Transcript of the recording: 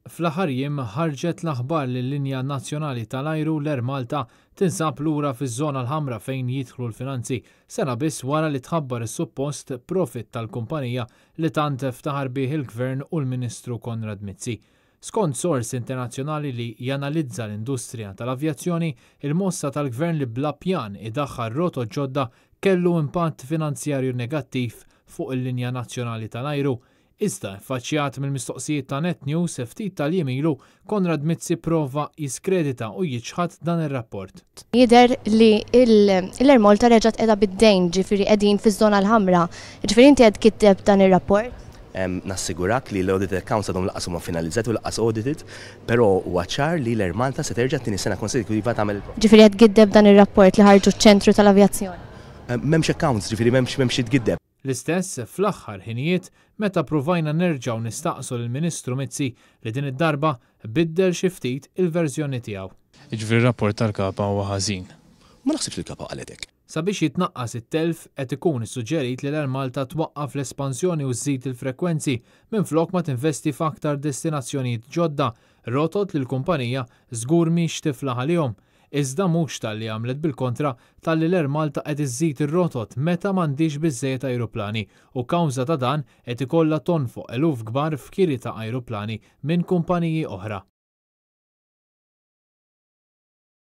Fl-aħħar jiem ħarġet l-aħbar li l-linja nazzjonali tal-ajru l-Air Malta tinsab lura fiż-żona l-ħamra fejn jidħlu l-finanzi, sena biss wara li tħabbar is-suppost profit tal-kumpanija li tant ftaħar bih il-Gvern u l-Ministru Konrad Mizzi. Skont sors internazzjonali li janalizza l-industrija tal-avjazzjoni, il-mossa tal-Gvern li bla pjan idaħħal rotot ġodda kellu impatt finanzjarju negattiv fuq il-linja nazzjonali tal-ajru. Iżda ffaċċjat mill-mistoqsijiet ta' Net News ftit tal-jiem ilu, Konrad Mizzi prova jiskredita u jiċħad dan ir-rapport. Jidher li l-Air Malta reġgħet qiegħda bid-dejn, ġifieri qegħdin fiż-żona l-ħamra. Ġifieri inti qed tgiddeb dan ir-rapport? Nassigurak li l-audited accounts għadhom lanqas huma finalizzati u lanqas audited, però huwa ċar li l-Air Malta se terġa' t-tieni sena konsekutiva tagħmel il-profit. Ġifieri qed tgiddeb dan ir-rapport li ħarġu ċ-ċentru tal-avjazzjoni? M'hemmx accounts, ġifieri m'hemmx xi tgiddeb. L-istess fl-aħħar ħinijiet meta pruvajna nerġgħu nistaqsu lill-Ministru Mizzi li din id-darba biddel xi ftit il-verżjoni tiegħu. Jiġifieri r-rapport tal-Kapa huwa ħażin. Ma naħsibx li l-Kapa qalet hekk. Sabiex jitnaqqas it-telf qed ikun issuġġerit li l-Air Malta twaqqaf l-espansjoni u żżid il-frekwenzi minflok ma tinvesti f'aktar destinazzjonijiet ġodda, rotot li l-kumpanija żgur mhix tiflaħ għalihom. Iżda mhux talli għamlet bil-kontra talli l-Air Malta qed iżżid ir-rotot meta m'għandhiex biżżejjed ajruplani u kawża ta' dan qed ikollha tonfoq eluf kbar f'kiri ta' ajruplani minn kumpaniji oħra.